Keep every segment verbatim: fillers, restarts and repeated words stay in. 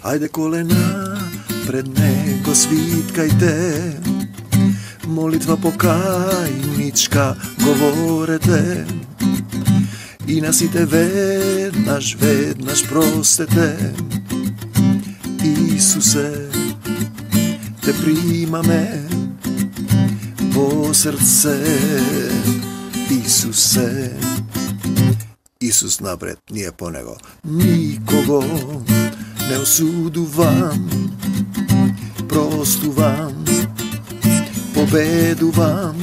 Ајде колена пред него свиткајте, молитва покајничка говорете, и на сите веднаш, веднаш простете. Исусе, те примаме во срце. Исусе, Исус напред, ние по него. Никого не осудувам, простувам, победувам.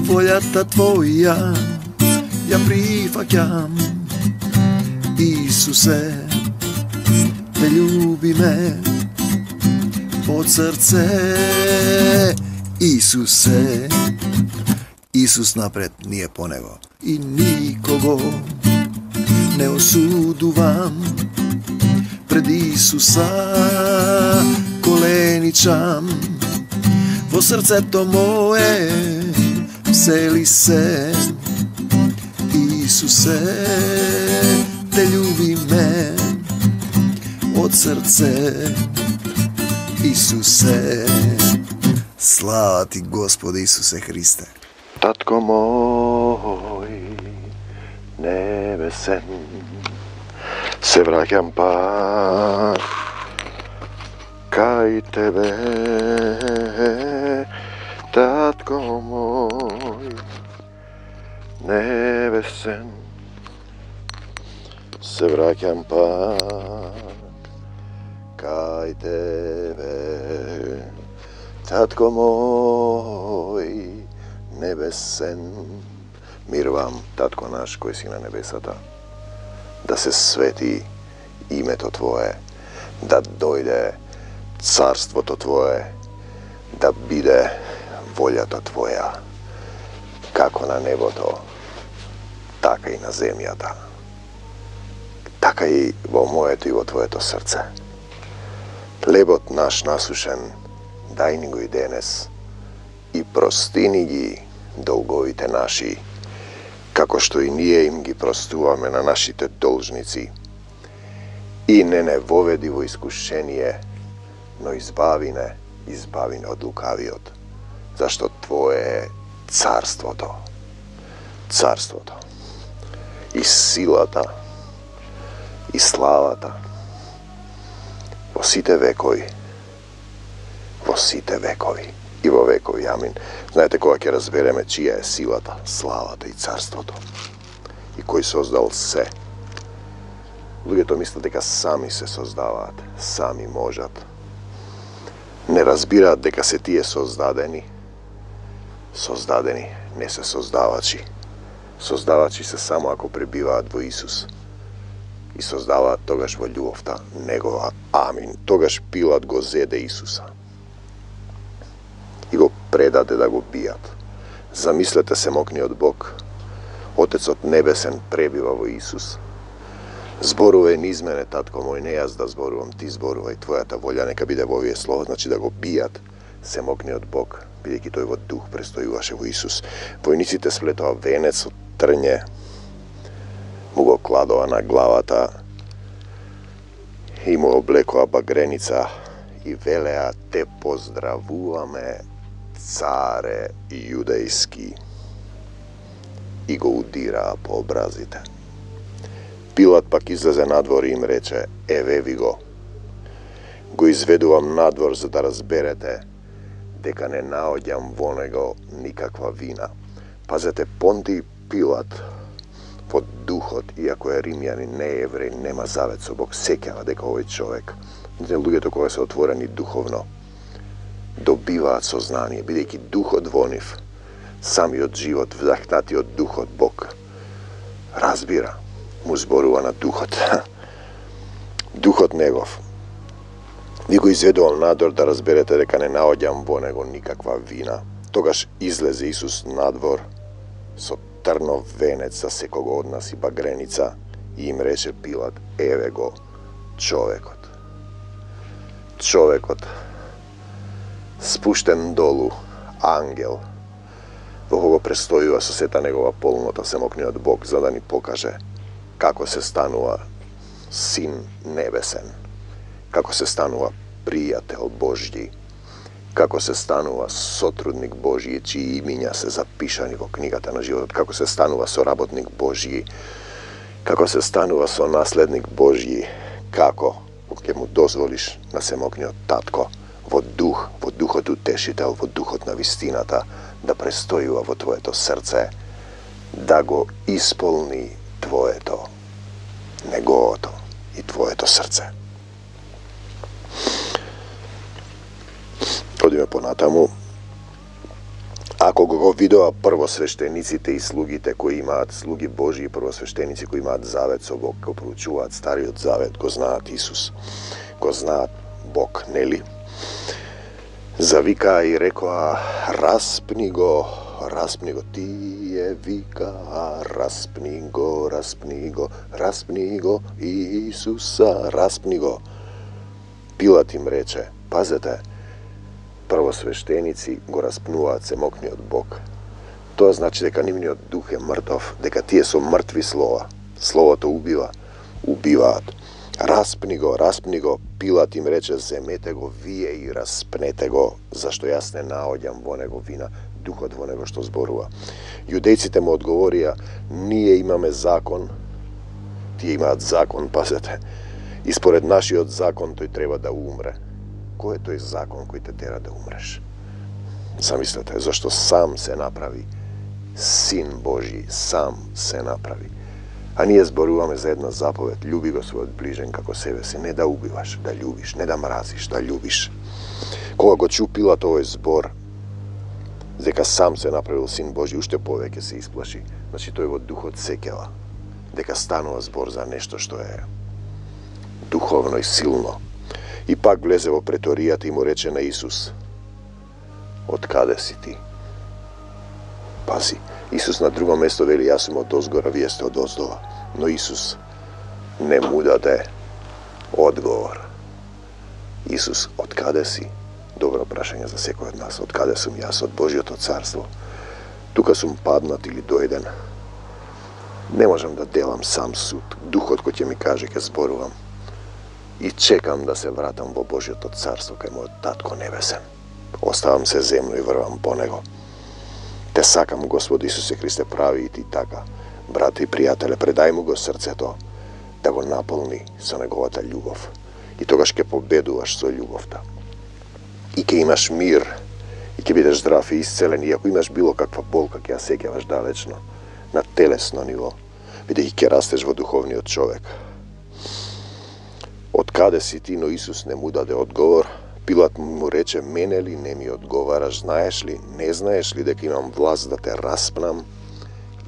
Волјата Твоја ја прифаќам. Исусе, те љубиме од срце. Исусе, Исус напред, ние по него. И никого не осудувам, пред Исуса коленичам. Во срцето мое всели се. Исусе, те љубиме од срце. Исусе, слава Ти Господи Исусе Христе. Татко мој небесен, се враќам пак кај Тебе. Татко мој небесен, се враќам пак кај Тебе. Татко мој небесен, мирувам, Татко наш кој си на небесата, да се свети името Твое, да дојде царството Твое, да биде волјата Твоја, како на небото, така и на земјата, така и во моето и во Твоето срце. Хлебот наш насушен, дај ни го и денес, и простини ги долговите наши, како што и ние им ги простуваме на нашите должници. И не не воведи во искушение, но избави не, избави не од лукавиот, зашто Твое е царството, царството, и силата, и славата, во сите векови, во сите векови. И во векови, амин. Знаете, кога ќе разбереме чија е силата, славата и царството, и кој создал се. Луѓето мислат дека сами се создаваат, сами можат. Не разбираат дека се тие создадени. Создадени, не се создавачи. Создавачи се само ако пребиваат во Исус. И создаваат тогаш во љубовта Негова. Амин. Тогаш Пилат го зеде Исуса и го предаде да го бијат. Замислете се мокниот Бог, Отецот Небесен пребива во Исус. Зборувај низ мене, Татко мој, не јас да зборувам, Ти зборувај, Твојата волја нека биде во овие слова, значи да го бијат семокниот Бог, бидејќи тој во дух престојуваше во Исус. Војниците сплетоа венец од трње, му го кладоа на главата и му облекоа багреница и велеа: те поздравуваме, царе јудејски, и го удираа по образите. Пилат пак излезе надвор и им рече: еве ви го. Го изведувам надвор за да разберете дека не наоѓам во него никаква вина. Пазете, Понтиј Пилат во духот, иако е римјанин, не е евреј, нема завет со Бог, сеќава дека овој човек, луѓето кои се отворени духовно, добиваат сознание, бидејќи духот во нив, самиот живот, вдахнатиот духот Бог, разбира, му зборува на духот. Духот негов. Ви го изведувал надвор да разберете дека не наоѓам во него никаква вина. Тогаш излезе Исус надвор со трнов венец за секого од нас и багреница и им рече Пилат: еве го човекот. Човекот спуштен долу, ангел, во кого престојува со сета негова полнота семокниот Бог, за да ни покаже како се станува Син Небесен. како се станува пријател Божји, како се станува сотрудник Божји, чии имиња се запишани во книгата на животот, како се станува соработник Божји, како се станува сонаследник Божји, како ќе му дозволиш на семокниот татко во дух, во духот утешител, во духот на вистината, да престојува во твоето срце, да го исполни твоето, неговото и твоето срце. Одиме понатаму. Ако го видоа првосвештениците и слугите кои имаат, слуги Божии првосвештеници кои имаат завет со Бог, го проучуваат Стариот завет, го знаат Исус, го знаат Бог, нели? Завикаа и рекоа: распни го, распни го, тие викаа, распни го, распни го, распни го, Исуса, распни го. Пилат им рече: пазете, првосвештеници го распнуваат семокниот Бог. Тоа значи дека нивниот дух е мртов, дека тие со мртви слова. Словото убива, убиваат. Распни го, распни го. Пилат им рече: земете го вие и распнете го, зашто јас не наоѓам во него вина, духот во него што зборува. Јудејците му одговорија: ние имаме закон, тие имаат закон, пазете, и според нашиот закон тој треба да умре. Кој е тој закон кој те тера да умреш? Замислете, зашто сам се направи, Син Божи сам се направи. А ние зборуваме за една заповед: љуби го својот ближен како себе си, не да убиваш, да љубиш, не да мразиш, да љубиш. Кога го чу Пилат овој збор, дека сам се направил Син Божи, уште повеќе се исплаши. Значи тој во духот сеќава дека станува збор за нешто што е духовно и силно. И пак влезе во преторијата и му рече на Исус: од каде си ти? Пази, Исус на друго место вели: јас сум од озгора, вие сте од оздола. Но Исус не му даде одговор. Исус, од каде си? Добро прашање за секој од нас. Од каде сум јас? Од Божјото царство. Тука сум паднат или дојден. Не можам да делам сам суд. Духот кој ќе ми каже, ќе зборувам. И чекам да се вратам во Божјото царство кај мојот татко небесен. Оставам се земно и врвам по него. Те сакам, Господи Исусе Христе, прави и ти така. Брате и пријателе, предај му го срцето да го наполни со неговата љубов. И тогаш ќе победуваш со љубовта. И ќе имаш мир, и ќе бидеш здрав и исцелен, и ако имаш било каква болка, ќе ја сеќаваш далечно, на телесно ниво, бидејќи ќе растеш во духовниот човек. Од каде си ти? Но Исус не му даде одговор. Пилат му рече: мене ли не ми одговараш? Знаеш ли, не знаеш ли дека имам власт да те распнам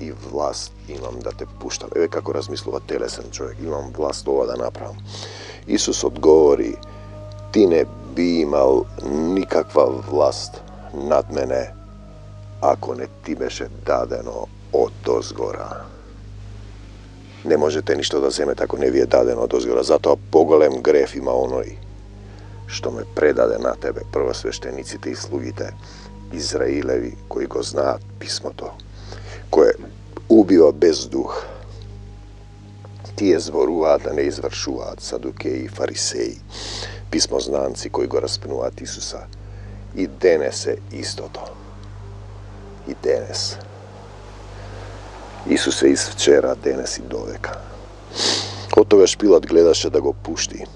и власт имам да те пуштам? Еве како размислува телесен човек: имам власт ова да направам. Исус одговори: ти не би имал никаква власт над мене ако не ти беше дадено од озгора. Не можете ништо да земете ако не ви е дадено од озгора. Затоа поголем греф има оној што ме предаде на тебе, првосвештениците и слугите Израилеви, кои го знаат писмото, кое убива без дух. Тие зборуваат, да не извршуваат, садукеи и фарисеи, писмознанци кои го распнуваат Исуса. И денес е истото. И денес. Исус е из вчера, денес и довека. Од тогаш Пилат гледаше да го пушти.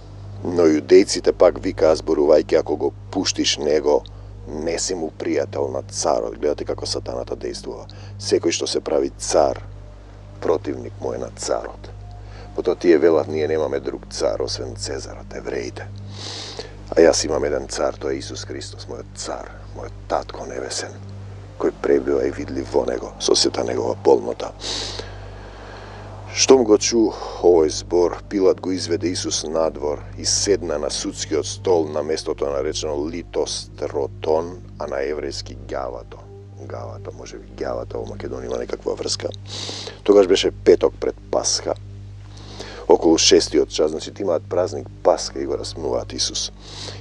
Но јудејците пак викаа, зборувајќи: ако го пуштиш него, не си му пријател на царот. Гледате како сатаната действува. Секој што се прави цар, противник му е на царот. Потоа тие велат: ние немаме друг цар освен Цезарот, евреите. А јас имам еден цар, тоа е Исус Христос, мојот цар, мојот татко небесен, кој пребива и видлив во него, со сета негова полнота. Штом го чу овој збор, Пилат го изведе Исус надвор и седна на судскиот стол на местото наречено Литостротон, а на еврејски Гавато. Гавато, може би Гавато, во Македонија има некаква врска. Тогаш беше петок пред Пасха. Околу шестиот час, значи имаат празник Пасха и го распнуваат Исус.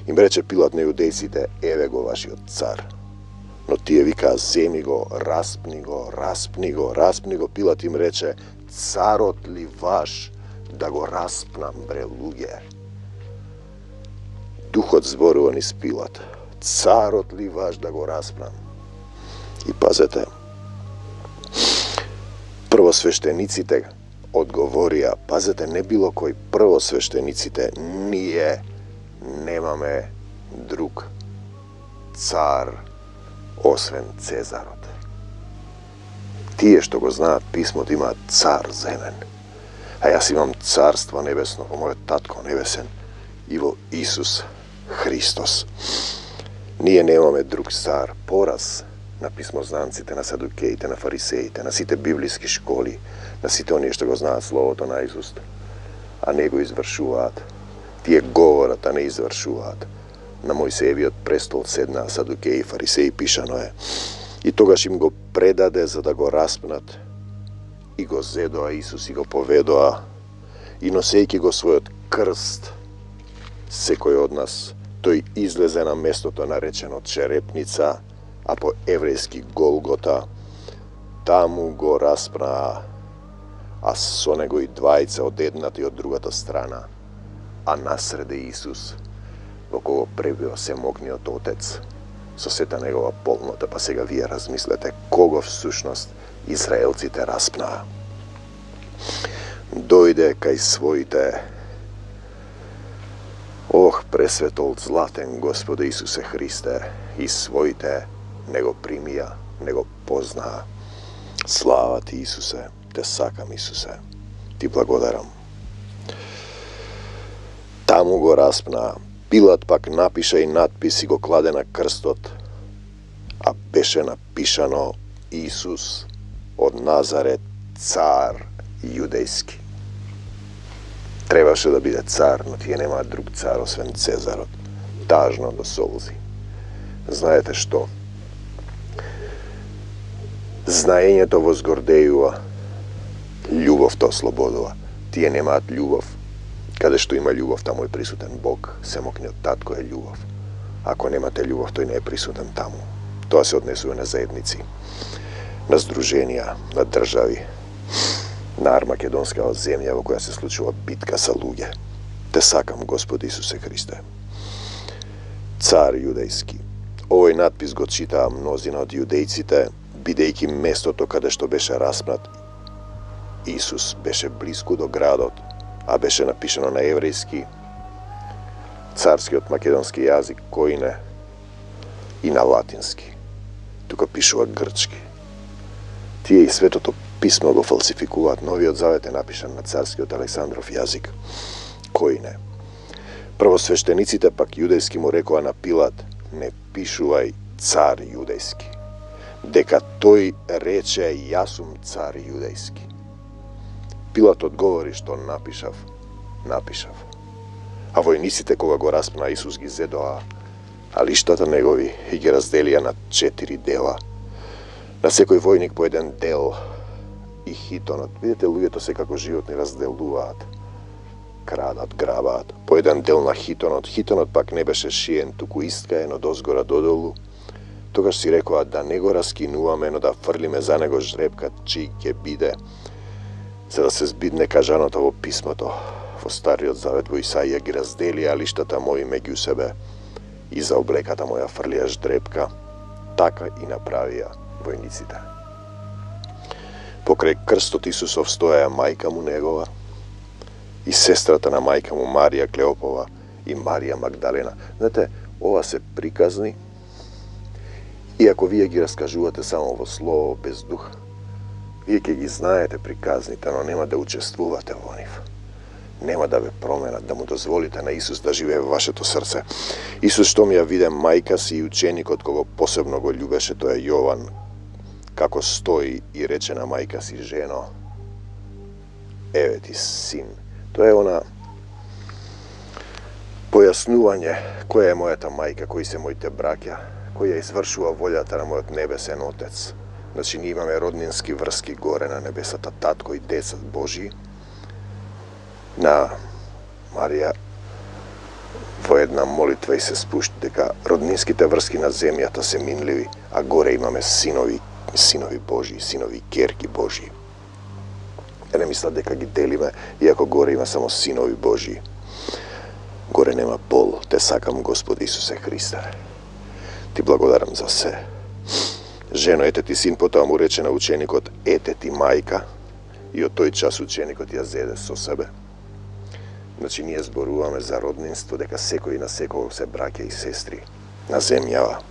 Им рече Пилат на јудејците: еве го вашиот цар. Но тие викаа: земи го, распни го, распни го, распни го. Пилат им рече: царот ли ваш да го распнам, бре луѓе? Духот зборува низ Пилат. Царот ли ваш да го распнам? И пазете, првосвештениците одговорија, пазете, не било кој, првосвештениците, ние немаме друг цар освен Цезарот. Тие што го знаат писмото имаат цар земен, а јас имам царство небесно во мојот татко небесен и во Исус Христос. Ние немаме друг цар. Пораз на писмознанците, на садукеите, на фарисеите, на сите библиски школи, на сите оние што го знаат словото наизуст, а не го извршуваат. Тие говорат, а не извршуваат. На Мојсеевиот престол седнаа садукеи и фарисеи, пишано е. И тогаш им го предаде за да го распнат. И го зедоа Исус и го поведоа. И носејќи го својот крст, секој од нас, тој излезе на местото наречено Черепница, а по еврејски Голгота, таму го распнаа, а со него и двајца од едната и од другата страна, а насреде Исус, во кого пребива семогниот Отец, со сета негова полнота. Па сега вие размислете, кого всушност израелците распнаа. Дојде кај своите, ох, пресветол златен Господе Исусе Христе, и своите не го примија, не го познаа. Слава ти, Исусе, те сакам, Исусе, ти благодарам. Таму го распнаа. Пилат пак напиша и надпис и го кладе на крстот, а беше напишано Исус од Назарет, цар јудејски. Требаше да биде цар, но тие немаат друг цар освен Цезарот. Тажно до солзи. Знаете што? Знаењето возгордејува, љубовта ослободува. Тие немаат љубов. Каде што има љубов, таму е присутен Бог. Семокниот татко е љубов. Ако немате љубов, тој не е присутен таму. Тоа се однесува на заедници, на здруженија, на држави, на Армакедонскава земја во која се случува битка со луѓе. Те сакам, Господи Исусе Христе. Цар јудејски. Овој надпис го читаа мнозина од јудејците, бидејќи местото каде што беше распнат Исус беше блиску до градот, а беше напишано на еврејски, царскиот македонски јазик, којне, и на латински. Тука пишува грчки. Тие и Светото писмо го фалсификуваат. Новиот завет е напишан на царскиот Александров јазик, којне. Првосвештениците пак јудејски му рекоа на Пилат, не пишувај цар јудејски, дека тој рече јас сум цар јудејски. Пилат одговори, што напишав, напишав. А војниците кога го распна Исус ги зедоа, а лиштата негови и ги разделија на четири дела. На секој војник по еден дел и хитонот. Видите, луѓето секако животни разделуваат, крадат, грабаат. По еден дел на хитонот. Хитонот пак не беше шиен, туку искаен од озгора додолу. Тогаш си рекоа да не го раскинуваме, но да фрлиме за него жребка, чиј ќе биде, за да се збидне кажаното во писмото. Во Стариот Завет во Исаија ги разделија лиштата мои меѓу себе и за облеката моја фрлија ждребка. Така и направија војниците. Покрај крстот Исусов стоја мајка му негова и сестрата на мајка му Марија Клеопова и Марија Магдалена. Знаете, ова се приказни, и ако вие ги раскажувате само во слово, без дух, вие ќе ги знаете приказните, но нема да учествувате во нив. Нема да ве променат, да му дозволите на Исус да живее во вашето срце. Исус што ми ја виде мајка си и ученикот кого посебно го љубеше, тоа е Јован, како стои и рече на мајка си, жено, еве ти син. Тоа е она појаснување која е мојата мајка, кои се моите браќа, кој ја извршува волјата на мојот небесен Отец. Значи, ние имаме роднински врски горе на небесата, татко и децат Божи. На Марија во една молитва и се спушти дека роднинските врски на земјата се минливи, а горе имаме синови, синови Божи, синови керки Божи. Ја не мисла дека ги делиме, иако горе има само синови Божи. Горе нема пол, те сакам, Господи Исусе Христе. Ти благодарам за се. Жено, ете ти син, потоа му рече на ученикот, ете ти мајка, и од тој час ученикот ја зеде со себе. Значи, ние зборуваме за роднинство, дека секој на секој се браќа и сестри на земјава,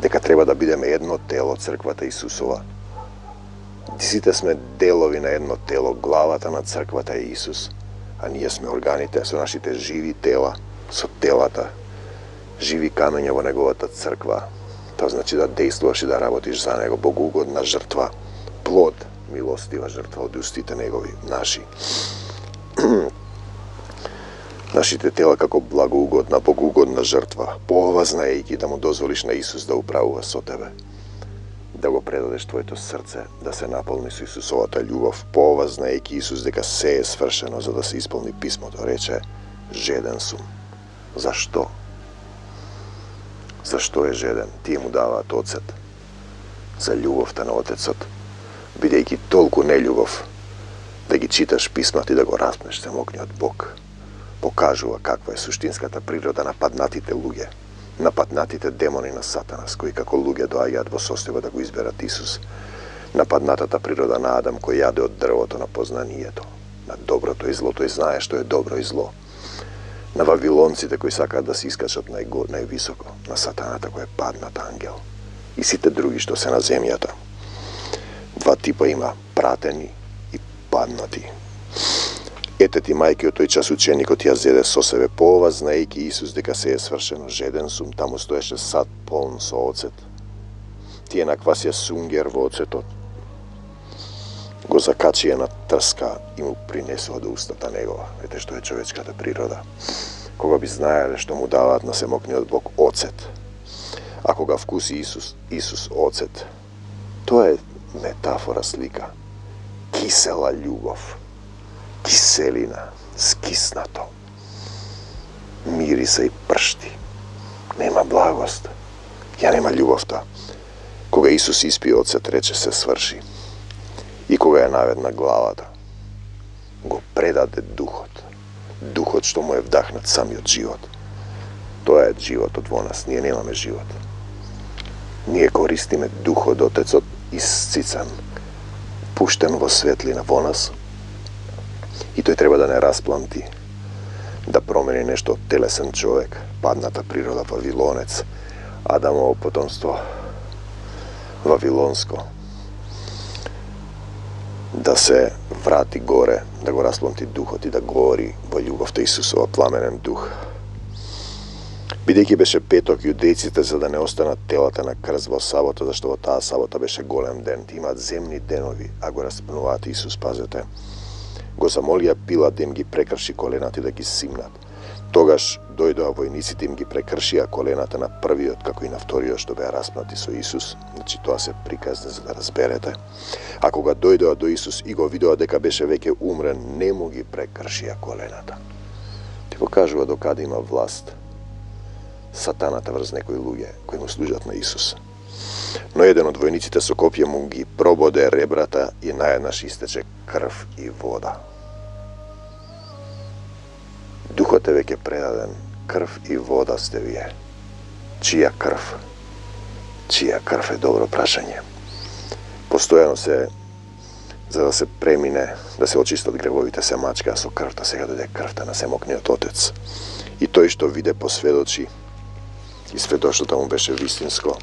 дека треба да бидеме едно тело, црквата Исусова. Сите сме делови на едно тело, главата на црквата е Исус, а ние сме органите со нашите живи тела, со телата, живи камења во неговата црква. Тоа значи да действуваш и да работиш за него, богоугодна жртва, плод, милостива жртва од устите негови, наши. Нашите тела како благоугодна, богоугодна жртва, поова знаејќи да му дозволиш на Исус да управува со тебе, да го предадеш твоето срце, да се наполни со Исусовата љубов, поова знаејќи Исус дека се е свршено за да се исполни писмото, рече, жеден сум. Зашто? Зашто е жеден? Тие му даваат оцет за љубовта на Отецот, бидејќи толку нељубов, да ги читаш писмата и да го распнеш самокниот Бог. Покажува каква е суштинската природа на паднатите луѓе, на паднатите демони на Сатанас, кои како луѓе доаѓаат во состојба да го изберат Исус, на паднатата природа на Адам, кој јаде од дрвото на познанието, на доброто и злото и знае што е добро и зло, на вавилонците кои сакаат да се искачат најго, највисоко, на Сатаната кој е паднат ангел, и сите други што се на земјата. Два типа има, пратени и паднати. Ете ти мајки, од тој час ученикот ја зеде со себе, поова знаејќи Исус дека се е свршено, жеден сум, таму стоеше сад полн со оцет. Тие наквасија сунгер во оцетот, го закачија на трска и му принесува до устата негова. Ете што е човечката природа. Кога би знаеле што му даваат на семокниот Бог оцет, а кога вкуси Исус, Исус оцет, тоа е метафора, слика. Кисела љубов, киселина, скиснато, мириса и пршти. Нема благост, ја нема љубовта. Кога Исус испи оцет, рече се сврши. И кога ја наведна главата, го предаде духот. Духот што му е вдахнат самиот живот. Тоа е животот во нас, ние немаме живот. Ние користиме духот Отецот исцицан, пуштен во светлина во нас, и тој треба да не распламти, да промени нешто од телесен човек, падната природа вавилонец, Адамово потомство вавилонско, да се врати горе, да го распламти духот и да гори во љубовта Исусова пламенен дух. Бидејќи беше петок, јудејците, за да не останат телата на крст во сабота, зашто во таа сабота беше голем ден, имаат земни денови, а го распнуваат Исус, пазете, го замолија Пилат да им ги прекрши колената и да ги симнат. Тогаш дојдоа војниците, им ги прекршија колената на првиот како и на вториот што беа распнати со Исус. Значи тоа се приказни за да разберете. А кога дојдоа до Исус и го видоа дека беше веќе умрен, не му ги прекршија колената. Ти покажува докаде има власт Сатаната врз некои луѓе кои му служат на Исус. Но еден од војниците со копје му ги прободе ребрата и наеднаш истече крв и вода. Духот е веќе предаден, крв и вода сте вие. Чија крв? Чија крв е добро прашање. Постојано се, за да се премине, да се очистат гревовите, се мачка со крвта, сега дојде крвта на семокниот Отец. И тој што виде посведочи, и сведоштото му беше вистинско,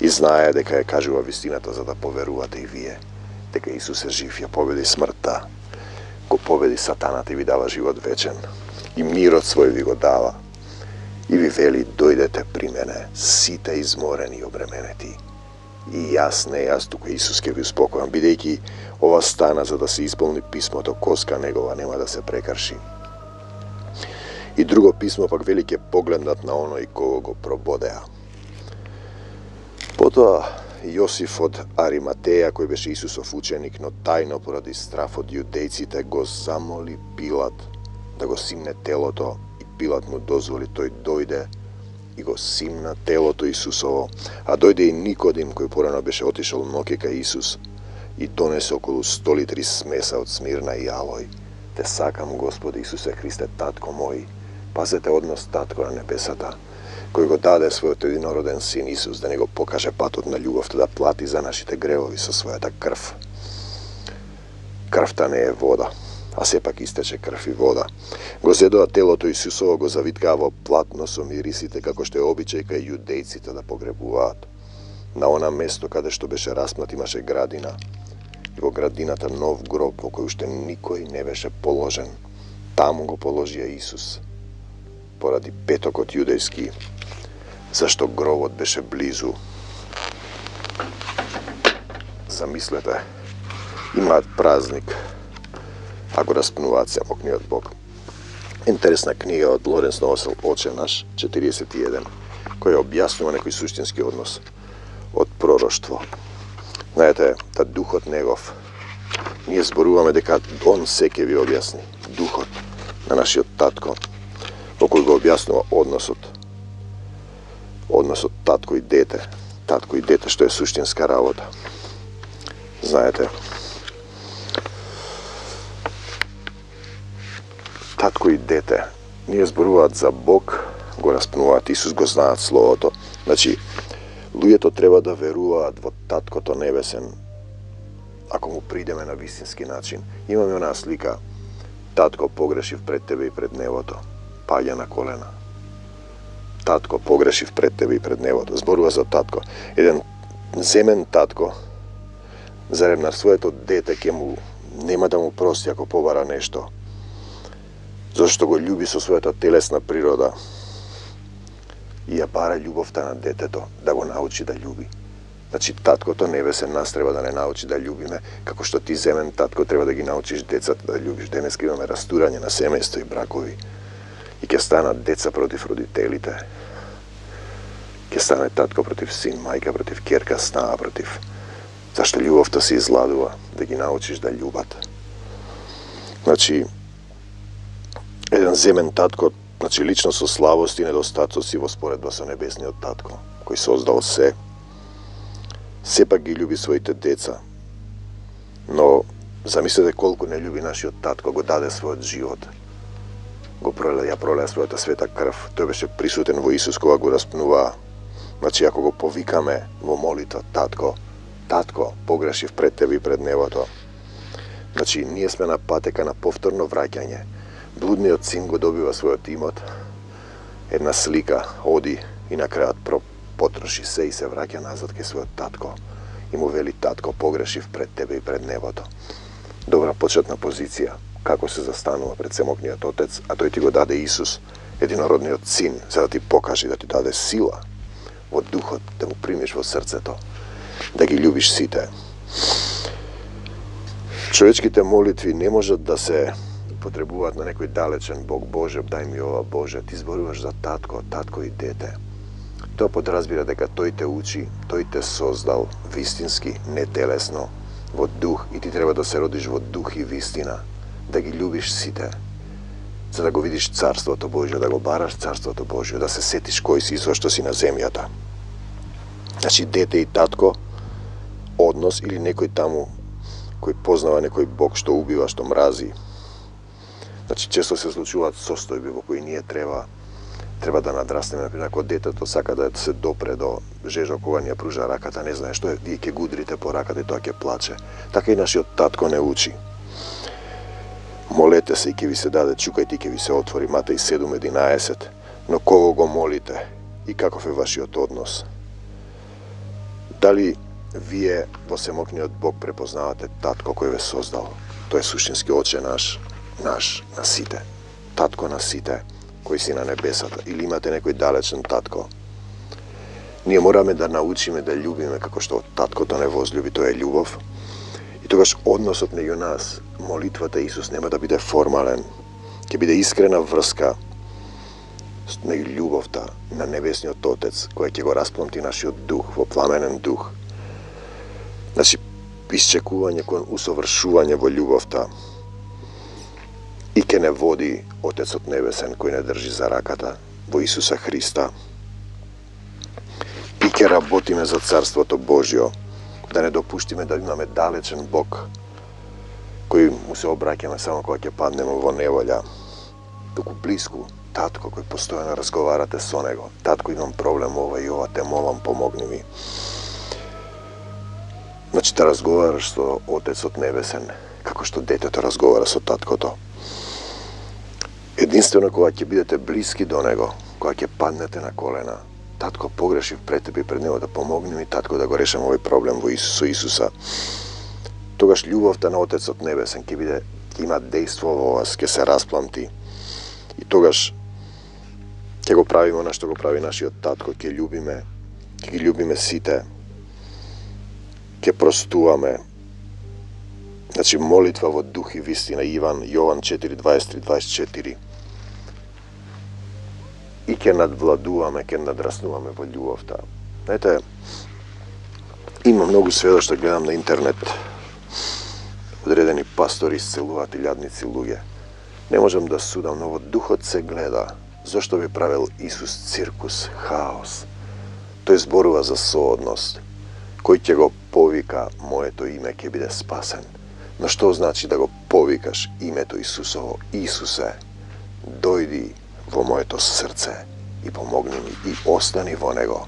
и знае дека ја кажува вистината за да поверувате и вие, дека Исус е жив, ја победи смртта, го победи Сатаната и ви дава живот вечен, и мирот свој ви го дава, и ви вели, дојдете при мене, сите изморени и обременети, и јас не јас, туку Исус ќе ви успокојам, бидејќи ова стана за да се исполни писмото, коска негова нема да се прекрши. И друго писмо пак вели, ќе погледнат на оној кого го прободеа. Потоа Јосиф од Ариматеја, кој беше Исусов ученик, но тајно поради страф од јудејците, го замоли Пилат да го симне телото, и Пилат му дозволи, тој дојде и го симна телото Исусово, а дојде и Никодим, кој порано беше отишол ноќе кај Исус, и донесе околу сто литри смеса од смирна и алој. Те сакам, Господи Исусе Христе, татко мој, Пазете однос татко на небесата, кој го даде својот единороден син Исус да не го покаже патот на љубовта, да плати за нашите гревови со својата крв. Крвта не е вода, а сепак истече крв и вода. Го зедоа телото Исусово, го завиткаа во платно со мирисите, како што е обичај кај јудејците да погребуваат. На она место каде што беше распнат имаше градина, и во градината нов гроб во кој уште никој не беше положен. Таму го положија Исус, поради петокот јудејски, зашто гробот беше близу. Замислете, имаат празник, а го распнуваат семокниот Бог. Интересна книга од Лоренс Новосел, Оче наш, четириесет и еден, која објаснува некој суштински однос од пророштво. Знаете, та духот негов, ние зборуваме дека он се ќе ви објасни, духот на нашиот татко, во кој го објаснува односот, односот татко и дете, татко и дете, што е суштинска работа. Знаете, татко и дете, ние зборуваат за Бог, го распнуваат Исус, го знаат Словото. Значи, луѓето треба да веруваат во Таткото Небесен, ако му придеме на вистински начин. Имаме онаа слика, татко погрешив пред тебе и пред небото, паѓа на колена. Татко погрешив пред тебе и пред небото. Зборува за татко. Еден земен татко, зарем на своето дете ќе му нема да му прости ако побара нешто, зашто го љуби со својата телесна природа и ја бара љубовта на детето, да го научи да љуби. Значи, таткото небесен нас треба да не научи да љубиме, како што ти земен татко треба да ги научиш децата да љубиш. Денеска имаме растурање на семејство и бракови и ќе станат деца против родителите. Ќе стане татко против син, мајка против ќерка, снаа против. Зашто љубовта се изладува, да ги научиш да љубат. Значи, еден земен татко, значи лично со слабости и недостатоци во споредба со небесниот татко, кој создал се, сепак ги љуби своите деца. Но замислете колку не љуби нашиот татко, го даде својот живот. Го проле, ја пролеа својата света крв. Тој беше присутен во Исус кога го распнуваа. Значи, ако го повикаме во молитва, татко, татко, погрешив пред тебе и пред небото. Значи, ние сме на патека на повторно враќање. Блудниот син го добива својот имот, една слика, оди и на крајот потроши се и се враќа назад кај својот татко. И му вели, татко, погрешив пред тебе и пред небото. Добра почетна позиција, како се застанува пред семокниот Отец, а тој ти го даде Исус, единородниот син, за да ти покаже, да ти даде сила во духот, да му примиш во срцето, да ги љубиш сите. Човечките молитви не можат да се потребуваат на некој далечен Бог. Боже, дај ми ова, Боже, ти зборуваш за татко, татко и дете. Тоа подразбира дека тој те учи, тој те создал вистински, не телесно, во дух, и ти треба да се родиш во дух и вистина, да ги љубиш сите, за да го видиш Царството Божјо, да го бараш Царството Божјо, да се сетиш кој си и зошто си на земјата. Значи, дете и татко, однос или некој таму кој познава некој Бог што убива, што мрази. Значи, често се случуваат состојби во кои ние треба треба да надраснеме. Например, ако детето сака да се допре до жежо кога ни ја пружа раката, не знае што е, вие ќе гудрите по раката и тоа ќе плаче. Така и нашиот татко не учи. Молете се и ќе ви се даде, чукајте и ќе ви се отвори. Матеј седум единаесет. Но кого го молите и каков е вашиот однос? Дали вие во семокниот Бог препознавате татко кој ве создал? Тој е суштински Оче наш, наш на сите. Татко на сите, кој си на небесата. Или имате некој далечен татко? Ние мораме да научиме да љубиме како што таткото не возлюби, тоа е љубов. И тогаш односот меѓу нас, молитвата Исус нема да биде формален, ќе биде искрена врска меѓу љубовта на небесниот Отец, која ќе го распломти нашиот дух во пламенен дух. Значи, исчекување кон усовршување во љубовта и ќе не води Отецот Небесен кој не држи за раката во Исуса Христа. И ќе работиме за Царството Божјо, да не допуштиме да имаме далечен Бог кој му се обраќаме само кога ќе паднеме во неволја, туку блиску татко кој постојано разговарате со него. Татко, имам проблем ова и ова, те молам, помогни ми. Значи, да разговараш со Отецот Небесен, како што детето разговара со таткото. Единствено кога ќе бидете блиски до него, кога ќе паднете на колена, татко, погрешив пред тебе и пред него, да помогни ми, татко, да го решам овој проблем во Исус, со Исуса. Тогаш љубовта на Отецот Небесен ќе биде, ќе има дејство во вас, ќе се распламти. И тогаш ќе го правиме она што го прави нашиот татко, ќе љубиме, ќе ги љубиме сите, ќе простуваме. Значи, молитва во дух и вистина, Иван, Јован четири, дваесет три, дваесет четири. И ќе надвладуваме, ќе надраснуваме во љубовта. Знаете, има многу сведоштва, гледам на интернет, одредени пастори исцелуваат илјадници луѓе. Не можам да судам, но во духот се гледа. Зошто би правил Исус циркус, хаос? Тој зборува за соодност. Кој ќе го повика моето име ќе биде спасен. Но што значи да го повикаш името Исусово? Исусе, дојди во моето срце и помогни ми и остани во него.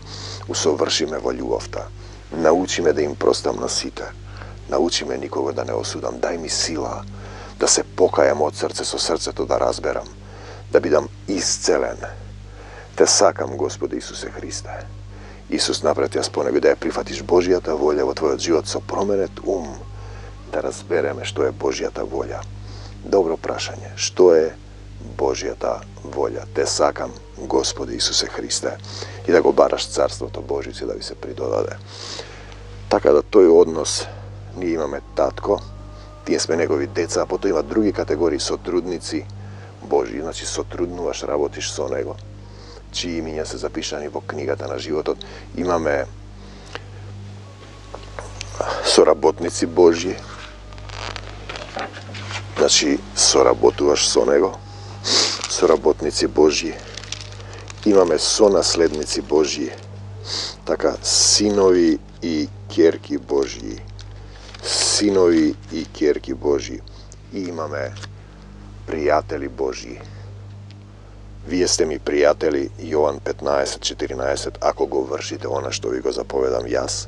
Усоврши ме во љубовта. Научи ме да им простам на сите. Научи ме никого да не осудам. Дај ми сила да се покајам од срце со срцето, да разберам, да бидам исцелен. Те сакам, Господи Исусе Христе. Исус напред јас по него да ја прифатиш Божјата волја во твојот живот со променет ум, да разбереме што е Божјата волја. Добро прашање, што е Божјата волја? Те сакам, Господи Исусе Христе, и да го бараш Царството Божјице да ви се придодаде. Така да тој однос, ние имаме татко, тие сме негови деца, а потоа има други категории сотрудници Божји, значи сотруднуваш, работиш со него, чии имиња се запишани во книгата на животот. Имаме соработници Божји, значи соработуваш со него, соработници Божји. Имаме сонаследници Божји, така синови и ќерки Божји, синови и ќерки Божји. И имаме пријатели Божји. Вие сте ми пријатели, Јован петнаесет четиринаесет, ако го вршите она што ви го заповедам јас.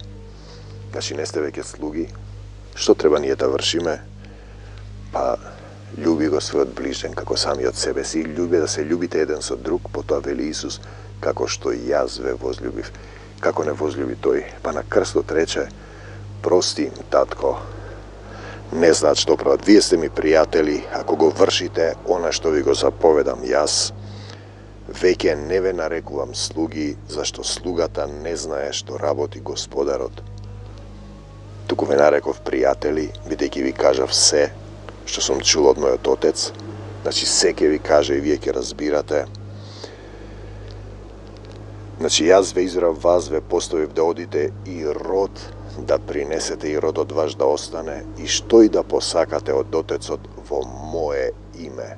Значи не сте веќе слуги. Што треба ние да вршиме? Па љуби го својот ближен како самиот себе си. Љуби да се љубите еден со друг, потоа вели Исус, како што јас ве возљубив. Како не возљуби тој? Па на крстот рече, прости им, татко, не знаат што прават. Вие сте ми пријатели, ако го вршите она што ви го заповедам јас. Веќе не ве нарекувам слуги, зашто слугата не знае што работи господарот. Туку ве нареков пријатели, бидејќи ви кажав се што сум чул од мојот Отец. Значи се ќе ви каже и вие ќе разбирате. Значи јас ве избрав вас, ве поставив да одите и род да принесете и родот ваш да остане, и што и да посакате од Отецот во мое име.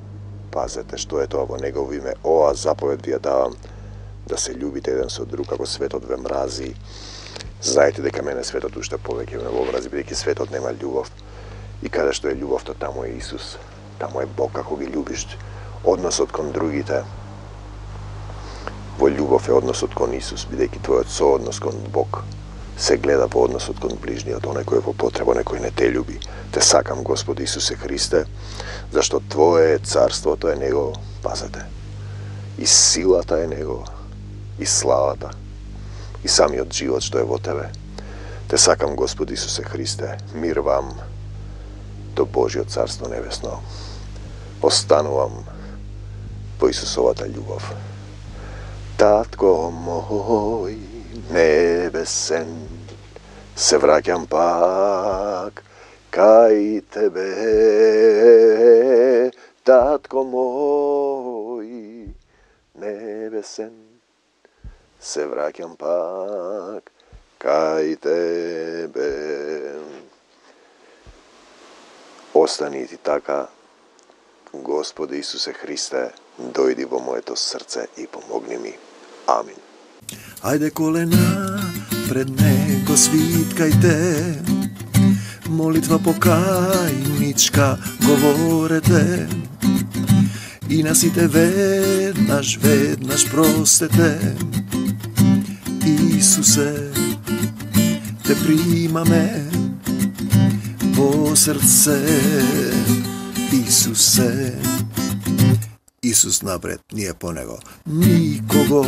Пазете што е тоа во негово име. Ова заповед ви ја давам, да се љубите еден со друг, како светот ве мрази. Знаете дека мене светот уште повеќе ме во мрази, бидејќи светот нема љубов. И каде што е љубовта, таму е Исус. Таму е Бог, како ги љубиш. Односот кон другите во љубов е односот кон Исус, бидејќи твојот сооднос кон Бог се гледа во односот кон ближниот, оној кој е во потреба, некој не те љуби. Те сакам, Господи Исусе Христе, зашто Твое царството е Негово, пазете. И силата е Негова, и славата, и самиот живот што е во Тебе. Те сакам, Господи Исусе Христе, мир вам до Божјото Царство Небесно. Останувам во Исусовата љубов. Татко мој небесен, се враќам пак кај Тебе, татко мој небесен, се враќам пак кај Тебе. Остани ти така, Господи Исусе Христе, дојди во моето срце и помогни ми. Амин. Ајде колена пред него свиткајте, молитва покајничка говорете, и на сите веднаш, веднаш простете. Исусе, те примаме во срце. Исусе, Исус напред, ние по него. Никого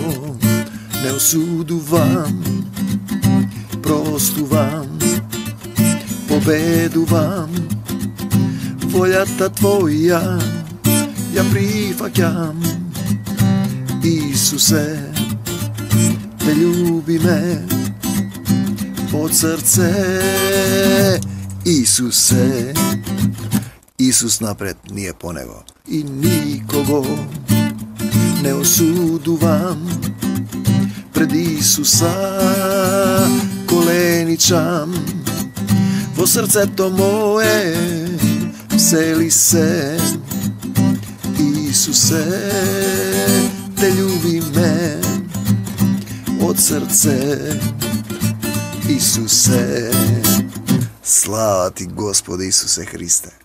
не осудувам, простувам, победувам. Волјата Твоја ја прифаќам. Исусе, те љубиме од срце. Исусе, Исус напред, ние по него. И никого не осудувам, пред Исуса коленичам. Во срцето мое всели се. Исусе, те љубиме од срце. Исусе, слава Ти Господи Исусе Христе.